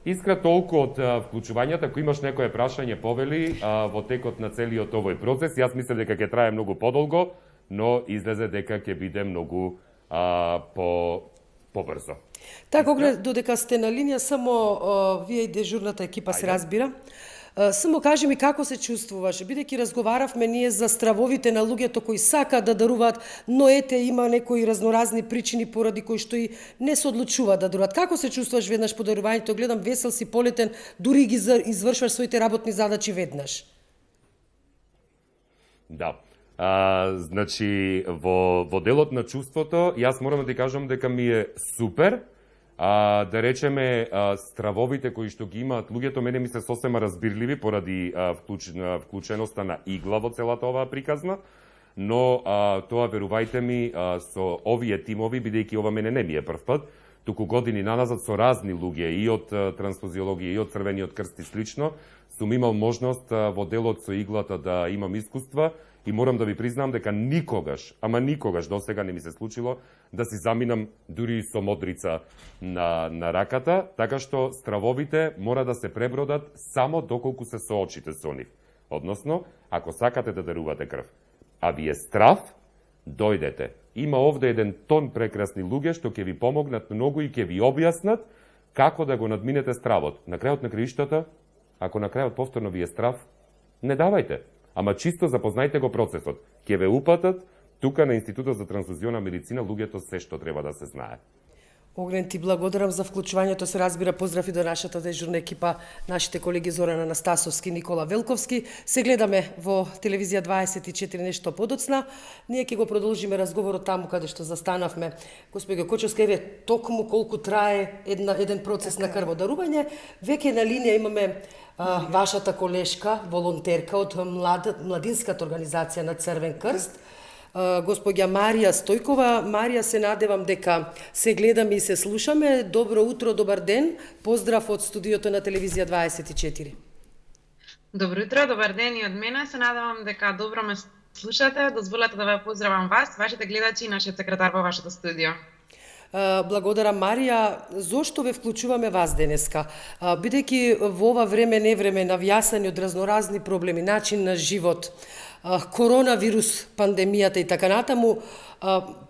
S2: Искра, толку од а, вклучувањата, ако имаш некое прашање, повели, а, во текот на целиот овој процес, јас мислам дека ќе трае многу подолго, но излезе дека ќе биде многу а, по побрзо.
S1: Така, Огнен, додека сте на линија, само а, вие и дежурната екипа се разбира. Само кажи ми како се чувствуваш, бидејќи разговаравме ние за стравовите на луѓето кои сакаат да даруваат, но ете има некои разноразни причини поради кои што и не се одлучуваат да даруваат. Како се чувствуваш веднаш по дарувањето? Гледам весел си, полетен, дури ги извршваш своите работни задачи веднаш.
S2: Да. А, значи, во, во делот на чувството, јас морам да ти кажам дека ми е супер. А, да речеме, а, стравовите кои што ги имаат луѓето, мене ми се сосема разбирливи поради а, вклуч, вклученоста на игла во целата оваа приказна, но а, тоа, верувајте ми, а, со овие тимови, бидејќи ова мене не ми е прв пат, туку години наназад со разни луѓе, и од а, трансфузиологија, и од Црвениот крст и слично, сум имал можност а, во делот со иглата да имам искуства, и морам да ви признам дека никогаш, ама никогаш досега не ми се случило да си заминам дури со модрица на, на раката, така што стравовите мора да се пребродат само доколку се соочите со нив. Односно, ако сакате да дарувате крв, а ви е страв, дојдете. Има овде еден тон прекрасни луѓе што ќе ви помогнат многу и ќе ви објаснат како да го надминете стравот. На крајот на краиштата, ако на крајот повторно ви е страв, не давајте. Ама чисто запознајте го процесот. Ќе ве упатат, тука на Институтот за трансфузиона медицина луѓето се што треба да се знае.
S1: Огнен, ти благодарам за вклучувањето, се разбира, поздрав и до нашата дежурна екипа, нашите колеги Зоран Анастасовски, Никола Велковски. Се гледаме во телевизија дваесет и четири нешто подоцна. Ние ќе го продолжиме разговорот таму каде што застанавме. Господи Кочовска, еве токму колку трае една, еден процес на крводарување. Веќе на линија имаме а, вашата колешка, волонтерка од млад, младинската организација на Црвен крст, господја Марија Стојкова. Марија, се надевам дека се гледаме и се слушаме. Добро утро, добар ден. Поздрав од студиото на телевизија дваесет и четири.
S9: Добро утро, добар ден и од мене. Се надевам дека добро ме слушате. Дозволете да ве поздравам вас, вашите гледачи и нашиот секретар во вашето студио.
S1: Благодарам, Марија. Зошто ве вклучуваме вас денеска? Бидејќи во ова време не време навјасани од разноразни проблеми, начин на живот, коронавирус, пандемијата и така натаму,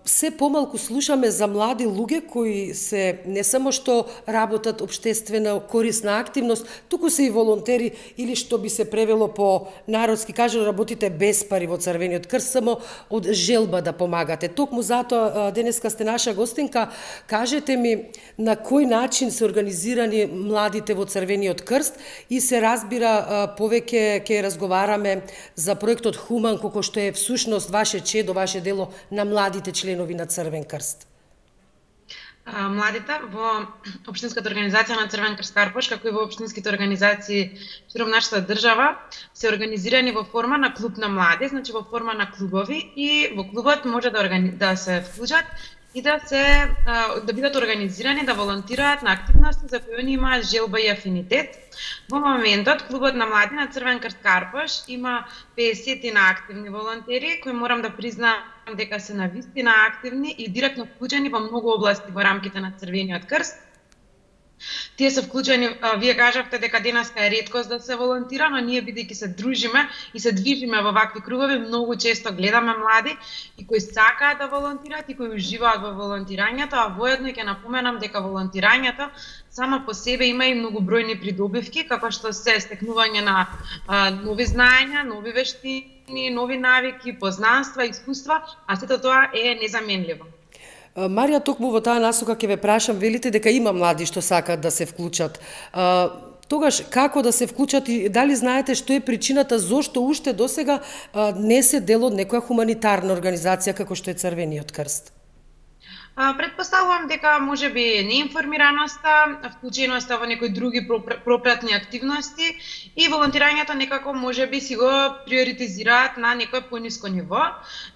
S1: се помалку слушаме за млади луѓе кои се не само што работат општествена корисна активност, туку се и волонтери, или што би се превело по народски кажано, работите без пари во Црвениот крст, само од желба да помагате. Токму затоа денеска сте наша гостинка. Кажете ми на кој начин се организирани младите во Црвениот крст, и се разбира повеќе ќе разговараме за проектот Хуман, кој што е всушност ваше чедо, ваше дело на младите членови на Црвен крст.
S9: Младите во Општинската организација на Црвен крст Карпош, како и во општинските организации широм нашата држава, се организирани во форма на клуб на млади, значи во форма на клубови, и во клубот може да, органи... да се вклучат и да се да бидат организирани да волонтираат на активности за кои они имаат желба и афинитет. Во моментот клубот на млади на Црвен крст Карпош има педесет на активни волонтери кои морам да признаам дека се навистина активни и директно вклучени во многу области во рамките на Црвениот крст. Тие се вклучени, вие кажавте дека денеска е реткост да се волонтира, но ние бидејќи се дружиме и се движиме во вакви кругови, многу често гледаме млади и кои сакаат да волонтираат и кои уживаат во волонтирањето, а воедно ќе напоменам дека волонтирањето само по себе има и многобројни придобивки, како што се стекнување на а, нови знаења, нови вештини, нови навики, познанства, искуства, а сето тоа е незаменливо.
S1: Марија, токму во таа насока ќе ве прашам, велите дека има млади што сакаат да се вклучат. А, тогаш, како да се вклучат и дали знаете што е причината зошто уште досега а, не се дел од некоја хуманитарна организација како што е Црвениот крст?
S9: Предпоставувам дека можеби неинформираноста, вклученоста во некои други пропратни активности и волонтирањето некако можеби си го приоритизираат на некое пониско ниво.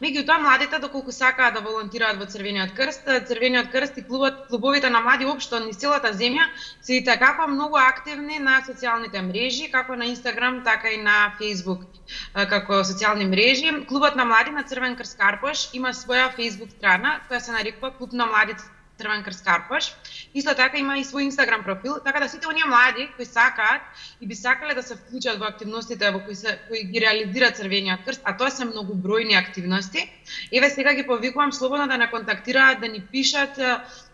S9: Меѓутоа младите доколку сакаат да волонтираат во Црвениот крст, Црвениот крст и клубот, клубовите на млади општо низ целата земја се и така многу активни на социјалните мрежи, како на Инстаграм, така и на Фејсбук, како социјални мрежи. Клубот на млади на Црвен крст Карпош има своја Фејсбук страна која се нарекува Клуб на млади Црвен крст Карпош. Исто така има и свој Инстаграм профил, така да сите оние млади кои сакаат и би сакале да се вклучат во активностите во кои се кои ги реализира Црвениот крст, а тоа се многобројни активности. Еве сега ги повикувам слободно да не контактираат, да ни пишат,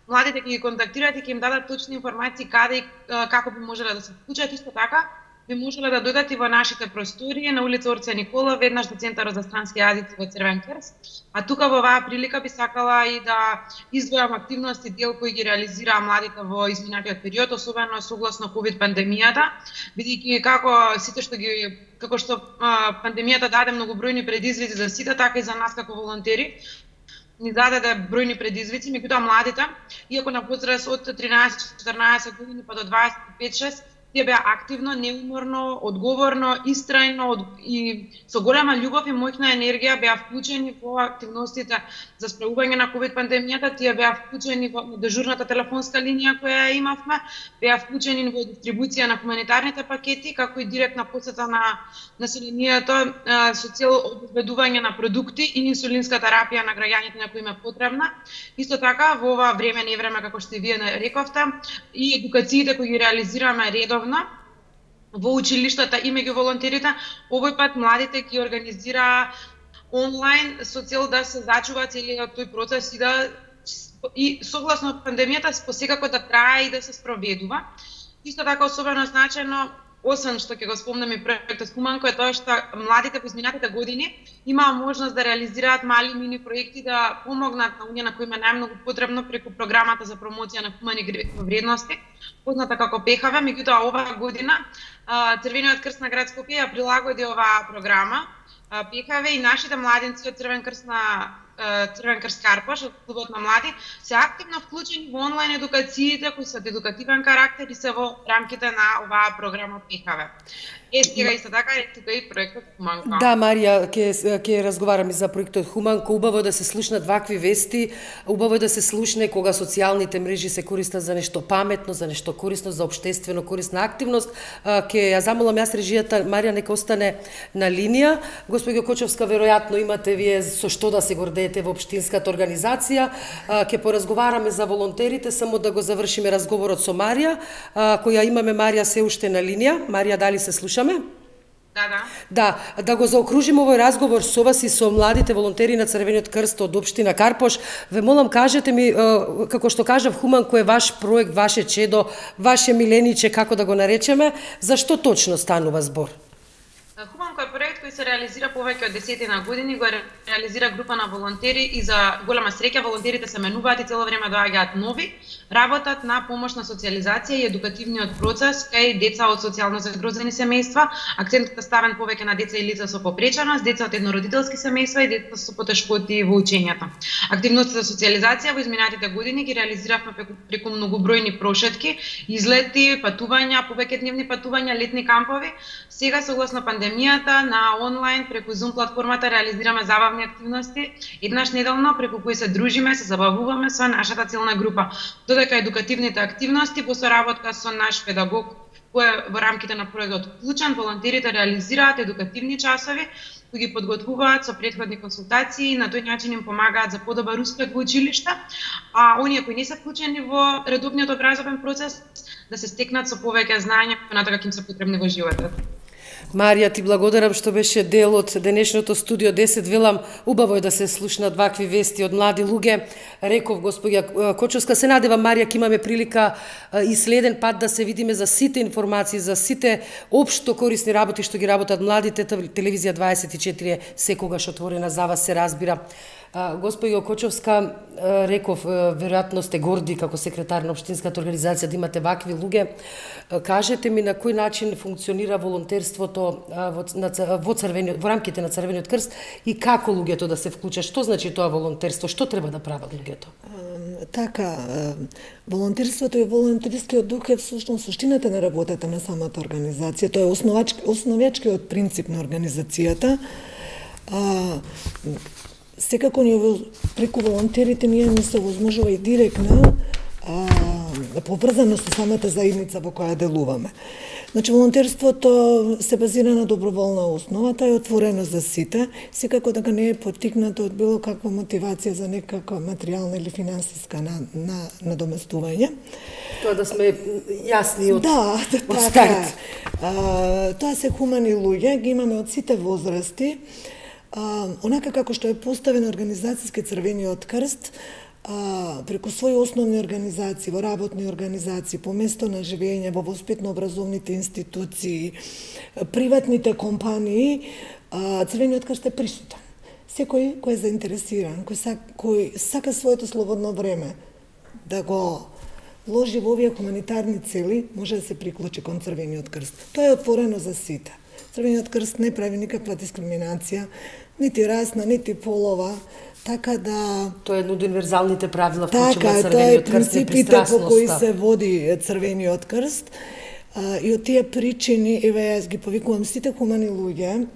S9: младите ќе ги контактираат и ќе им дадат точни информации каде и како би можеле да се вклучат. Исто така би можеле да дојдат и во нашите простории на улица Орце Никола, веднаш до Центарот за странски јазици во Црвен крст. А тука во оваа прилика би сакала и да издвојам активности дел кои ги реализираа младите во изминатиот период, особено согласно ковид пандемијата, бидејќи како сите што ги како што а, пандемијата даде многобројни предизвици за сите, така и за нас како волонтери ни даде бројни предизвици, меѓутоа младите, иако на возраст од тринаесет четирнаесет години па до дваесет и пет шест, тие беа активно, неуморно, одговорно, истрајно од... и со голема љубов и моќна енергија беа вклучени во активностите за справување на ковид пандемијата, тие беа вклучени во дежурната телефонска линија која имавме, беа вклучени во дистрибуција на хуманитарните пакети, како и директна посета на населението со цел обезбедување на продукти и инсулинска терапија на граѓаните на кои им е потребна. Исто така, во ова време не време, како што и вие рековте, и едукациите кои ги реализираме редовно во училиштата и меѓу волонтерите, овој пат младите ги организира онлайн со цел да се зачува целиот тој процес и да и согласно пандемијата посекако да трае и да се спроведува. Исто така особено значено, освен што ќе го спомнам и проектот Хуманко, е тоа што младите во изминатите години имаа можност да реализираат мали мини проекти да помогнат на оние на кои им е најмногу потребно преку програмата за промоција на хумани вредности, позната како ПХВ. Меѓутоа оваа година Црвениот крст на град Скопје ја прилагоди оваа програма ПХВ и нашите младенци од Црвен крст на Црвен крст Карпош, од клубот на млади, се активно вклучени во онлайн едукациите кои се од едукативен карактер и се во рамките на оваа програма ПХВ. Е, сега исто така е тука и проектот Хуманко.
S1: Да, Марија, ќе ќе разговараме за проектот Хуманко. Убаво да се слушнат вакви вести, убаво да се слушне кога социјалните мрежи се користат за нешто паметно, за нешто корисно, за општествено корисна активност. Ќе ја замолам јас режијата, Марија нека остане на линија. Господјо Кочовска, веројатно имате вие со што да се гордеете во општинската организација. Ќе поразговараме за волонтерите, само да го завршиме разговорот со Марија, која имаме. Марија се уште на линија. Марија, дали се слуша? Да,
S9: да.
S1: Да, да го заокружиме овој разговор со вас и со младите волонтери на Црвениот крст од општина Карпош. Ве молам, кажете ми, како што кажав, Хуманко е ваш проект, ваше чедо, ваше милениче, како да го наречеме, за што точно станува збор?
S9: Хуманко е проект кој се реализира повеќе од десетина години, го реализира група на волонтери и за голема среќа волонтерите се менуваат и цело време доаѓаат нови, работат на помош на социјализација и едукативниот процес кај деца од социјално загрозени семејства. Акцентот е ставен повеќе на деца и лица со попреченост, деца од еднородителски семејства и деца со потешкоти во учењето. Активноста за социјализација во изминатите години ги реализиравме преку, преку многобројни прошетки, излети, патувања, повеќедневни патувања, летни кампови. Сега согласно пандемијата на онлайн преку Zoom платформата реализираме забавни активности, еднаш неделно преку кои се дружиме, се забавуваме со нашата целна група. Додека едукативните активности во соработка со наш педагог кој во рамките на проектот Вклучен, волонтерите реализираат едукативни часови кои ги подготвуваат со претходни консултации, на тој начин им помагаат за подобар успех во училишта, а оние кои не се вклучени во редовниот образовен процес да се стекнат со повеќе знаења на тоа како им се потребни во животот.
S1: Марија, ти благодарам што беше дел од денешното студио десет. Велам, убаво е да се слушнат вакви вести од млади луѓе. Реков господја Кочовска, се надевам Марија ќе имаме прилика и следен пат да се видиме за сите информации, за сите општо корисни работи што ги работат младите. Телевизија дваесет и четири е секогаш отворена за вас, се разбира. Господја Кочовска, реков, веројатно сте горди како секретар на општинската организација да имате вакви луѓе. Кажете ми на кој начин функционира волонтерството во, на, во, црвени, во рамките на Црвениот крст и како луѓето да се вклучат? Што значи тоа волонтерство? Што треба да прават луѓето?
S7: Така, волонтерството и волонтерскиот дух е всушност суштината на работата на самата организација. Тоа е основач, основачкиот принцип на организацијата. А, секако ние преку волонтерите ние ни се возможува и директна а, поврзано со самата заедница во која делуваме. Значи, волонтерството се базира на доброволна основа, тоа е отворено за сите, секако дека не е поттикнато од било каква мотивација за некаква материјална или финансиска на, на, надоместување.
S1: Тоа да сме јасни од,
S7: да,
S1: од
S7: така,
S1: старт.
S7: А, тоа се хумани луѓе, ги имаме од сите возрасти. А, онака како што е поставен организацијски Црвениот крст, а, преку своји основни организации, во работни организации, по место на живење, во воспитно-образовните институции, приватните компании, а, Црвениот крст е присутен. Секој кој е заинтересиран, кој, са, кој сака своето слободно време да го вложи во овие хуманитарни цели, може да се приклучи кон Црвениот крст. Тоа е отворено за сите. Црвениот крст не прави никаква дискриминација, нити расна, нити полова, така да...
S1: Тоа е едно од универзалните правила вклучено
S7: така,
S1: Црвениот крст,
S7: принципите по кои се води Црвениот крст. А, и од тие причини, еве јас ги повикувам сите хумани луѓе,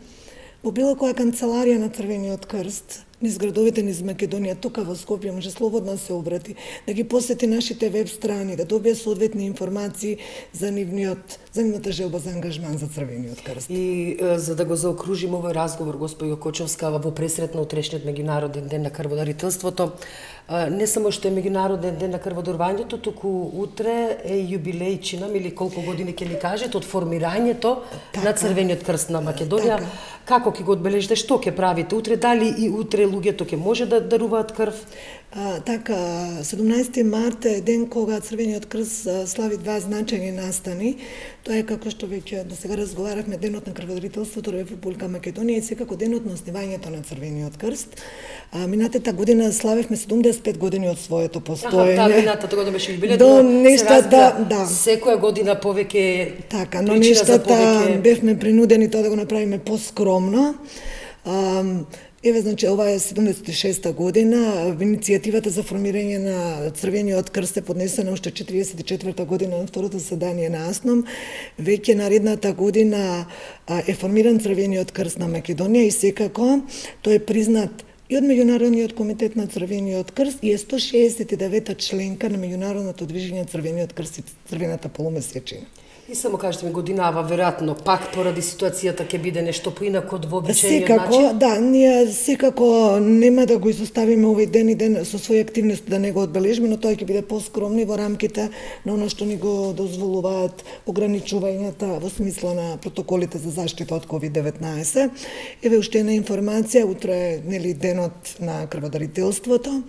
S7: во било која канцеларија на Црвениот крст, низ градовите низ Македонија, тука во Скопје, може слободно да се обрати, да ги посети нашите веб страни, да добие соодветни информации за нивниот, за нивната желба за ангажман за Црвениот крст.
S1: И за да го заокружим овој разговор, господјо Кочовска, во пресрет на утрешниот меѓународен ден на крводарителството, не само што е меѓународен ден на крводарувањето, туку утре е јубилеј, чинам, или колку години ќе ни кажете, од формирањето така, на Црвениот крст на Македонија. Така. Како ќе го одбележите, што ќе правите утре, дали и утре луѓето ќе може да даруваат крв?
S7: А, така, седумнаесети март е ден кога Црвениот крст слави два значајни настани. Тоа е како што веќе до сега разговаравме, денот на крводарителството во Република Македонија и секако денот на основањето на Црвениот крст. А, минатата година славевме седумдесет и пет години од своето постоење.
S1: Аха, да, минатата година беше јубилеј,
S7: до нештата, да, да.
S1: Секоја година повеќе
S7: така, но нештата
S1: повеќе...
S7: бевме принудени тоа да го направиме поскромно. А, Еве, значи, ова е седумдесет и шеста година, иницијативата за формирање на Црвениот крст е поднесена уште четириесет и четврта година на второто заседание на АСНОМ. Веќе наредната година е формиран Црвениот крст на Македонија и секако тој е признат и од Меѓународниот комитет на Црвениот крст и е сто шеесет и девета членка на Меѓународното движење Црвениот крст и Црвената полумесечина.
S1: И само кажете ми, годинава, веројатно, пак поради ситуацијата ќе биде нешто поинако од вообичаениот
S7: секако,
S1: начин?
S7: Да, ние секако нема да го изоставиме овој ден и ден со своји активности да не го одбележиме, но тоа ќе биде поскромни во рамките на оно што ни го дозволуваат ограничувањата во смисла на протоколите за заштита од ковид деветнаесет. Еве уште една информација, утре е нели денот на крводарителството.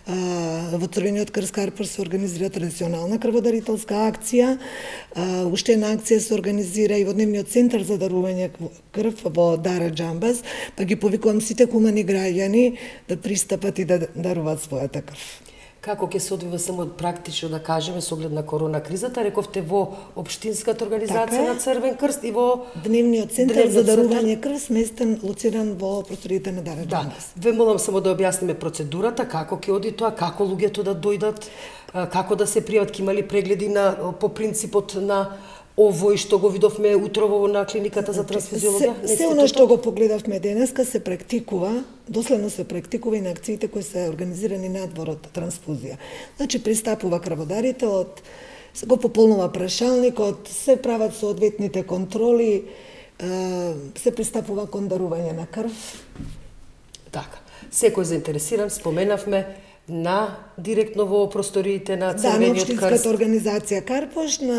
S7: Во Црвениот крст Карпар се организира традиционална крводарителска акција. Уште една акција се организира и во Дневниот центар за дарување крв во Дара Џамбаз, па ги повикувам сите хумани граѓани да пристапат и да даруваат својата крв.
S1: Како ќе се одвива само практично да кажеме со оглед на корона кризата, рековте во општинската организација така на Црвен крст и во
S7: Дневниот центар за дарување крв, сместен, лоциран во просториите на Дара Џамбаз.
S1: Да, ве молам само да објасниме процедурата, како ќе оди тоа, како луѓето да дојдат, како да се пријават, ќе има ли прегледи на по принципот на овој што го видовме утрово на клиниката за трансфузиологија?
S7: Се, се оно што го погледавме денеска се практикува, доследно се практикува и на акциите кои се организирани надвор од трансфузија. Значи пристапува крводарите од го пополнува прашалникот, се прават соодветните контроли, се пристапува кон дарување на крв.
S1: Така. Секој заинтересиран, споменавме, на директно во просториите на Црвениот крст.
S7: Да, на Општинската организација Карпош, на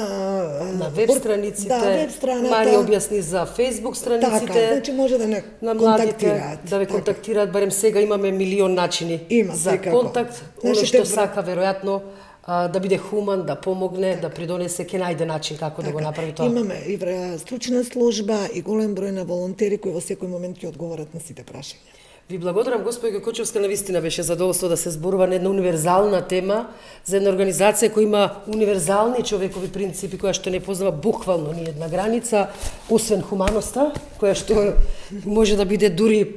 S1: на веб страниците.
S7: Да, веб страната.
S1: Марија објасни за Facebook страниците.
S7: Така, значи може да не
S1: на младите,
S7: контактираат.
S1: да ве
S7: така.
S1: контактираат, барем сега имаме милион начини
S7: Има,
S1: за
S7: секако.
S1: контакт.
S7: Значи,
S1: Оно што
S7: те...
S1: сака веројатно да биде хуман, да помогне, така. Да придонесе, ќе најде начин како така. Да го направи тоа.
S7: Имаме и стручна служба и голем број на волонтери кои во секој момент ќе одговорат на сите прашања.
S1: Ви благодарам, господи Кочовска, навистина беше задоволство да се зборува на една универзална тема за една организација која има универзални човекови принципи, која што не познава буквално ни една граница, освен хуманоста, која што може да биде дури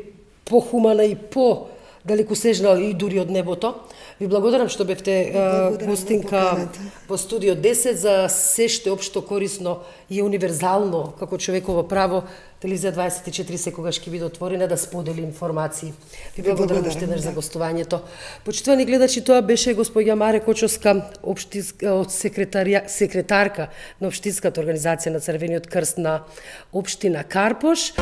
S1: похумана и по далекосежна и дури од небото. Ви благодарам што бевте гостинка во студио десет за се што е општо корисно и универзално како човеково право. Телевизија дваесет и четири секогаш ќе биде отворена да сподели информации. Ви благодарам уште еднаш за гостувањето. Почитувани гледачи, тоа беше господја Маре Кочовска, општинска секретарка на Општинската организација на Црвениот крст на општина Карпош.